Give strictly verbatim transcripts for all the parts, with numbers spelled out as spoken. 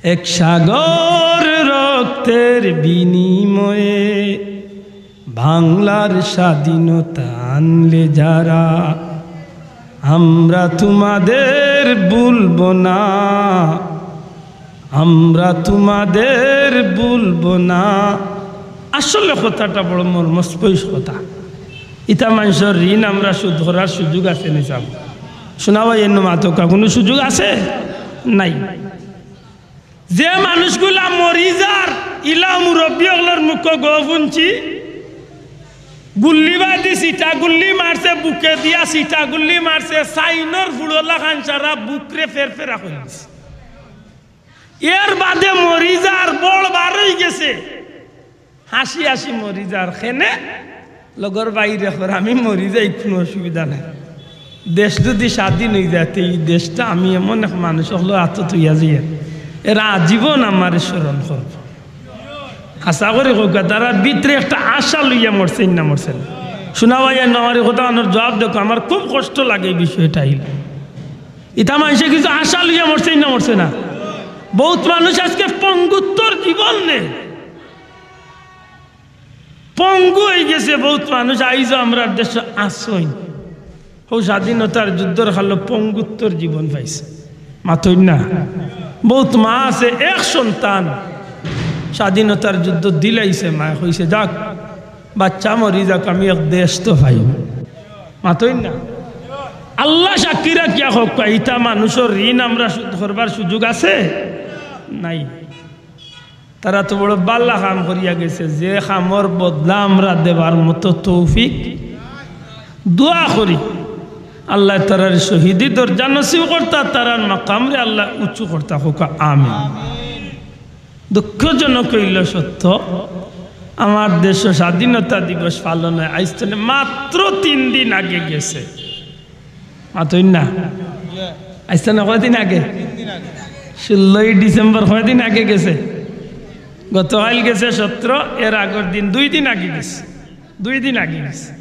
এক সাগর রক্তের বিনিময়ে বাংলার স্বাধীনতা আনলে যারা, আমরা তোমাদের ভুলব না, আমরা তোমাদের ভুলব না। আসলে কথাটা বড় মর্মস্পর্শী কথা। ইতা মানষর ঋণ আমরা শোধ করার সুযোগ আছে নি সাব? শোনা ভাই, এর মাতকা কোনো সুযোগ আছে? নাই। যে মানুষগুলা মরি যার, ইলা মুরব্বী অকলর মুখো গো হুনছি, গুল্লি বাদি সিটা গুল্লি মারছে, বুকে দিয়া সিটা গুল্লি মারছে, সাইনর ফুড়লা খান সারা বুকরে ফেরফেরা করি দিছে। এর বাদে মরি যার, বড় বার অই গেছে, হাসি হাসি মরি যার। কেনে? লগর বাইরে কর, আমি মরি যাই, কোনো অসুবিধা নাই। দেশ যদি স্বাধীন অই যায়, তে ই দেশটা আমি এমন এক মানুষ অকলর আতো থইয়া যাই, এরা আজীবন আমারে স্মরণ করব। আশা করি কউক্কা, তারার ভিতরে একটা আশা লইয়া মরছে না মরছে না? শোনা ভাই, আর আমার ই কথা আনার জবাব দেখো, আমার খুব কষ্ট লাগে এই বিষয়টা আইলে। ইতা মানষে কিছু আশা লইয়া মরছে না মরছে না? বহুত মানুষ আজকে পঙ্গুত্বর জীবন নে, পঙ্গু অই গেছে বহুত মানুষ। আইজও আমরার দেশো আছইন, হউ স্বাধীনতার যুদ্ধর কালো পঙ্গুত্বর জীবন পাইছে। মাতইন না? বহুত মা আছে, এক সন্তান স্বাধীনতার যুদ্ধ দিলাইছে, মায় কইছে, "যাক, বাচ্চা মরি যাক, আমি এক দেশ তো পাই।" মাতইন না? আল্লাহ সাক্ষী রাখিয়া কউক্কা, ইতা মানষর ঋণ আমরা শোধ করবার সুযোগ আছে? নাই। তারা তো বড় বালা কাম করিয়া গেছে, যে কামর বদলা আমরা দেবার মতো তৌফিক। দোয়া করি, আল্লায় তারার শহীদি দরজা নসিব করতা, তারার মাকামরে আল্লায় উঁচু করতা, কউক্কা আমিন। দুঃখজনক অইলো সত্য, আমার দেশো স্বাধীনতা দিবস পালন অয়, আইজ তনে মাত্র তিন দিন আগে গেছে। মাতইন না? আইজ তনে কয়দিন আগে? ষোলোই ডিসেম্বর কয়দিন আগে গেছে? গতকাইল গেছে সতেরো, এর আগর দিন, দুই দিন আগে গেছে, দুই দিন আগে গেছে।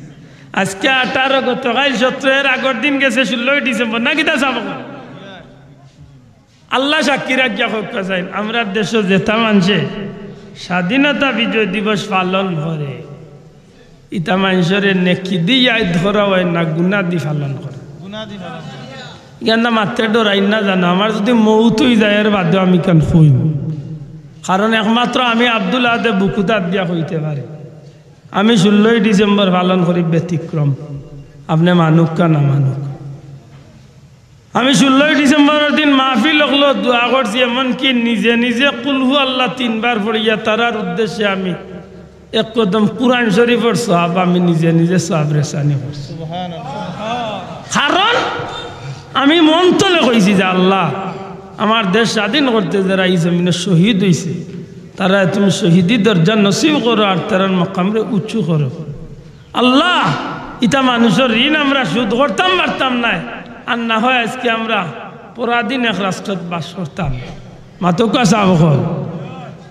আজকে আঠারো, গতকাইল সতেরো, এর আগর দিন গেছে ষোলোই ডিসেম্বর, না কিতা সাব? আল্লাহ সাক্ষী রাখিয়া কউক্কা চাইন, আমরার দেশো যেতা মানষে স্বাধীনতা বিজয় দিবস পালন করে, ইতা মানষরে নেকি দি ইয়াদ করা অয় না, গুনা দি পালন করে? গুনা দি পালন করে। ইখানতা মাততে ডরাইন না জানো, আমার যদি মউত অই যায়, এর বাদেও আমি ইখান কইমু। কারণ একমাত্র আমি আব্দুল আহাদে বুকুত আত দিয়া কইতে পারি। আমি ষোলোই ডিসেম্বর পালন করি ব্যতিক্রম, আপনে মানুক্কা না মানুক্কা। আমি ষোলোই ডিসেম্বরর দিন মাহফিল অকলো দোয়া করছি, এমনকি নিজে নিজে কুলহু আল্লাহ তিনবার পড়িয়া তারার উদ্দেশ্যে আমি এক কদম কুরআন শরীফর সওয়াব আমি নিজে নিজে সওয়াব রেসানি করছি। কারণ আমি মন তলে কইছি যে, "আল্লাহ, আমার দেশ স্বাধীন করতে যারা ই জমিনো শহীদ অইছে, তারারে তুমি শহীদি দরজা নসিব করো আর তারার মাকামরে উঁচু করো।" আল্লাহ, ইতা মানষর ঋণ আমরা শোধ করতাম পারতাম নায়, আর না হয় আজকে আমরা পরাধীন এক রাষ্ট্রত বাস করতাম। মাতউক্কা সাব অকল।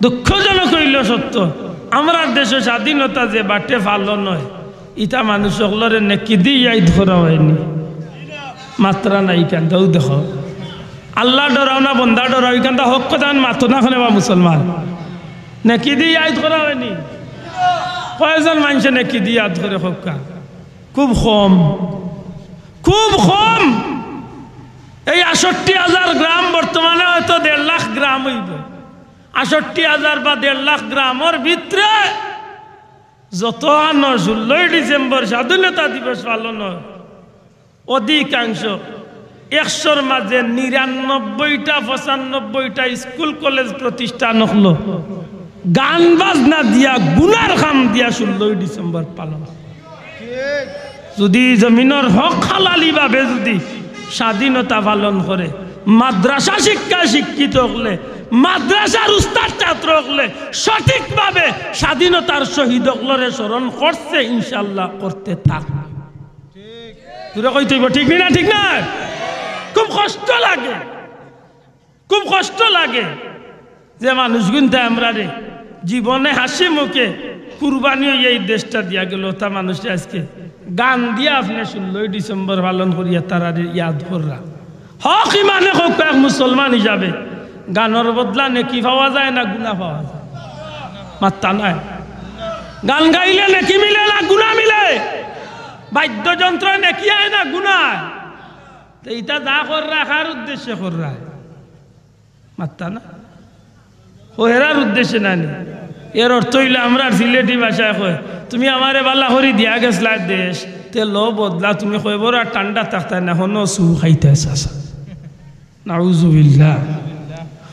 দুঃখজনক অইলো সত্য, আমরার দেশো স্বাধীনতা যে বাটে পালন অয়, ইতা মানষ অকলরে নেকি দি ইয়াদ করা অয়নি। মাতরা না ইখানতাউ দেখো। আল্লাহ ডরাও না বন্দা ডরাও, ইখানতা হক কথা মাতো না কেনে বা মুসলমান? নেকি দি ইয়াদ করা অয়নি? কয়জন মানষে নেকি দি ইয়াদ করে কউক্কা? খুব কম, খুব কম। এই আটষট্টি হাজার গ্রাম, বর্তমানে হয়তো দেড় লাখ গ্রাম অইবো। আটষট্টি হাজার বা দেড় লাখ গ্রামর ভিতরে যত আনো ষোলোই ডিসেম্বর স্বাধীনতা দিবস পালন অয়, অধিকাংশ, একশোর মাঝে নিরানব্বইটা, পঁচানব্বইটা স্কুল কলেজ প্রতিষ্ঠান অকলো গান বাজনা দিয়া, গুনার কাম দিয়া ষোলোই ডিসেম্বর পালন। যদি জমিনর হক হালালি ভাবে যদি স্বাধীনতা পালন করে, মাদ্রাসা শিক্ষায় শিক্ষিত অকলে, মাদ্রাসার উস্তাদ ছাত্র অকলে সঠিকভাবে স্বাধীনতার শহীদ অকলরে স্মরণ করছে, ইনশাআল্লাহ করতে থাক। জোরে কইতে অইবো, ঠিক নি না? ঠিক না? খুব কষ্ট লাগে, খুব কষ্ট লাগে যে মানুষগুনতে আমরারে জীবনে হাসি মুখে কুরবানি অইয়া এই দেশটা দিয়া গেল, তা মানুষে আজকে গান দিয়া আপনে ষোলোই ডিসেম্বর পালন করিয়া তারারে ইয়াদ কররা। হক ইমানে কউক্কা এক মুসলমান হিসাবে গানর বদলা নেকি পাওয়া যায় না গুনা পাওয়া যায়? মাত্তা নাই। গান গাইলে নেকি মিলে না গুনা মিলে? বাদ্যযন্ত্র নেকি আয় না গুনা আয়? তো ইতা যা কররা, কার উদ্দেশ্যে কররা? মাত্তা না। ও হেরার উদ্দেশ্যে না নি। এর অর্থ অইলো, আমরার সিলেটি ভাষায় কয়, "তুমি আমারে বালা করি দিয়া গেছলায় দেশ, তে লো বদলা তুমি কয়বর আর ঠান্ডা থাকতায় না, হনো সু খাইতায় চাচা।" নাউজুবিল্লাহ।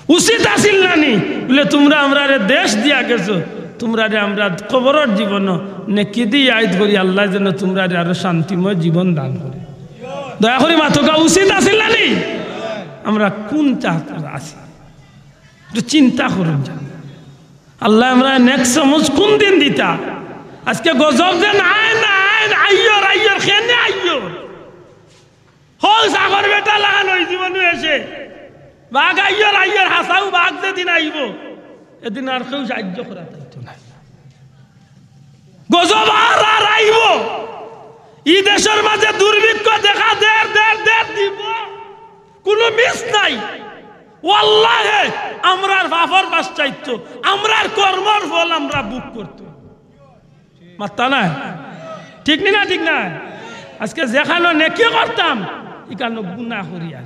উচিত আছিল না নি? বলে, "তুমরা আমরারে দেশ দিয়া গেছো, তুমরারে আমরা কবরর জীবনও নেকি দি ইয়াদ করি, আল্লায় যেন তুমরারে আরো শান্তিময় জীবন দান করে।" দয়া করি মাতকা, উচিত আছিল না নি? আমরা কুন জাগাত আছি? একটু চিন্তা করুন যা। আল্লায় আমরারে নেক সমঝ কুন দিন দিতা? আজকে গজব যে নাই, নাই, আইয়র, আইয়র, কেনে আইয়র? হউ ছাগর বেটা লাখান অই জীবনও এসে। বাঘ আইয়র, আইয়র, হাছাউ বাঘ যেদিন আইবো, এদিন আর কেউ সাহায্য করা যাইতো না। গজব আর, আর আইবো। ই দেশর মাঝে দুর্ভিক্ষ দেখা দের, দের, দের দিবো। কুনু মিস নাই। ওয়াল্লাহে, আমরার পাপর পাশ্চাত্য, আমরার কর্মর ফল আমরা ভোগ করতো। মাত্তা নাই? ঠিক নি না? ঠিক না? আজকে যেখানো নেকি করতাম, ইখানো গুনা করিয়া,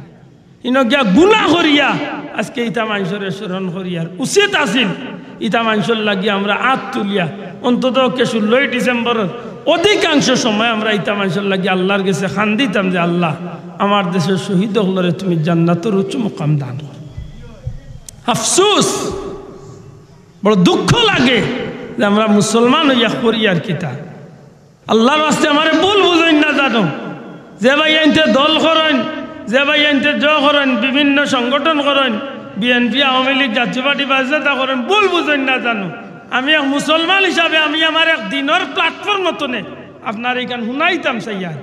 ইনো গিয়া গুনা করিয়া, আজকে ইতা মানষরে স্মরণ করিয়ার উচিত আছিল, ইতা মানষর লাগি আমরা আত তুলিয়া, অন্তত পক্ষে ষোলোই ডিসেম্বরর অধিকাংশ সময় আমরা ইতা মানষর লাগি আল্লার গেছে কান্দিতাম যে, "আল্লা, আমার দেশর শহীদ অকলরে তুমি জান্নাতর উচ্চ মুকাম দান করো।" আফসোস, বড় দুঃখ লাগে যে আমরা মুসলমান অইয়া করিয়ার কিতা। আল্লার ওয়াস্তে আমারে ভুল বুঝইন না জানো। যে ভাইয়াইন্তে দল করইন, যে ভাইয়াইন্তে জ করইন, বিভিন্ন সংগঠন করইন, বিএনপি, আওয়ামী লীগ, জাতীয় পার্টি, বাসদাতা করইন, ভুল বুঝইন না জানো। আমি এক মুসলমান হিসাবে আমি আমার এক দিনর platform মতনে আপনারে ইখান হুনাইতাম চাইয়ার।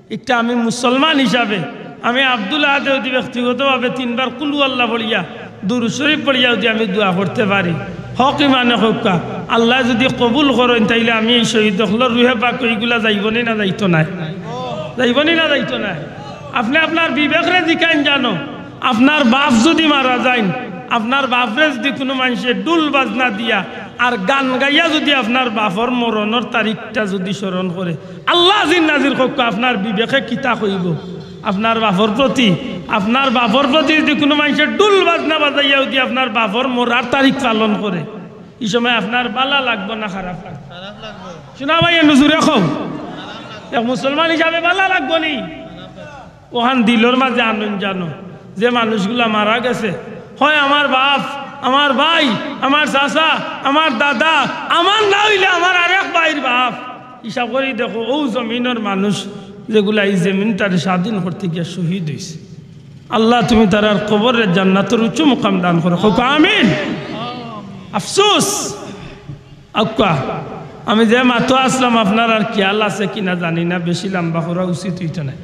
একটা আমি মুসলমান হিসাবে আমি আব্দুল আহাদে যদি ব্যক্তিগতভাবে তিনবার কুলু আল্লাহ পড়িয়া, দুরূদ শরীফ পড়িয়া যদি আমি দোয়া করতে পারি, হক ইমানে কউক্কা, আল্লায় যদি কবুল করইন, তাইলে আমি এই শহীদ অকলর রুহে পাক ইগুলা যাইবো নি না যাইতো নায়? যাইবো নি না যাইতো নায়? আপনে আপনার বিবেকরে জিকাইন জানো, আপনার বাপ যদি মারা যাইন, আপনার বাপরে যদি কুনু মানষে ঢুল বাজনা দিয়া আর গান গাইয়া যদি আপনার বাপর মরণর তারিখটা যদি স্মরণ করে, আল্লা আজিজ নাজির কউক্কা, আপনার বিবেকে কিতা কইবো? আপনার বাপর প্রতি, আপনার বাপর প্রতি যদি কুনু মানষে ঢুল বাজনা বাজাইয়া যদি আপনার বাপর মরার তারিখ পালন করে, ই সময় আপনার বালা লাগবো না খারাপ লাগবো? খারাপ লাগবো। শুনা ভাই, এ নজুরে কও, এক মুসলমান হিসাবে বালা লাগবো নি? অখান দিলর মাঝে আনইন জানো, যে মানুষগুলা মারা গেছে, হয় আমার বাপ, আমার ভাই, আমার চাচা, আমার দাদা, আমার না অইলে আমার আরেক ভাইর বাপ। হিসাব করি দেখো, অউ জমিনর মানুষ যেগুলা ই জমিনটারে স্বাধীন করতে গিয়া শহীদ অইছে। আল্লা, তুমি তারার কবররে জান্নাতর উচ্চ মুকাম দান করো, কউক্কা আমিন। আফসোস, আউক্কা, আমি যে মাতো আছলাম, আপনারার খিয়াল আছে কিনা জানি না, বেশি লাম্বা করা উচিত অইতো নায়।